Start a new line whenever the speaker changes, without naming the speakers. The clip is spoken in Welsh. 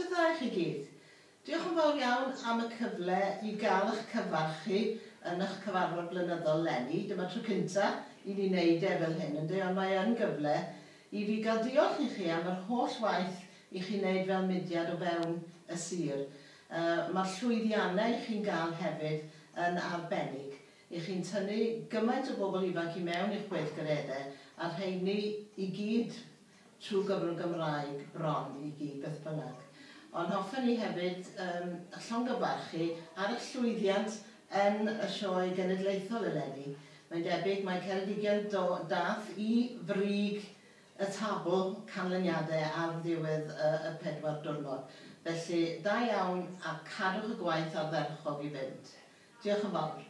Noswaith dda i chi gyd. Diolch yn fawr iawn am y cyfle i gael eich cyfarch chi yn eich cyfarfod blynyddol 'leni. Dyma tro cynta i ni wneud e fel hyn, ynde, ond mae yn gyfle i fi gael diolch i chi am yr holl waith i chi wneud fel mudiad o fewn y sir. Mae'r llwyddiannau i chi'n gael hefyd yn arbennig. I chi'n tynnu gymaint o bobl ifanc i mewn i'ch gweithgareddau, a'r rheini i gyd trwy gyfrwng Gymraeg bron i gyd, beth bynnag. Ond hoffen ni hefyd llongyfarch chi ar eich llwyddiant yn y sioe genedlaethol eleni. Mae'n debyg mae Ceredigion do, dath i frig y tabl canlyniadau ar ddiwedd y 4 diwrnod. Felly, da iawn a cadwch y gwaith ardderchog i fynd. Diolch yn fawr.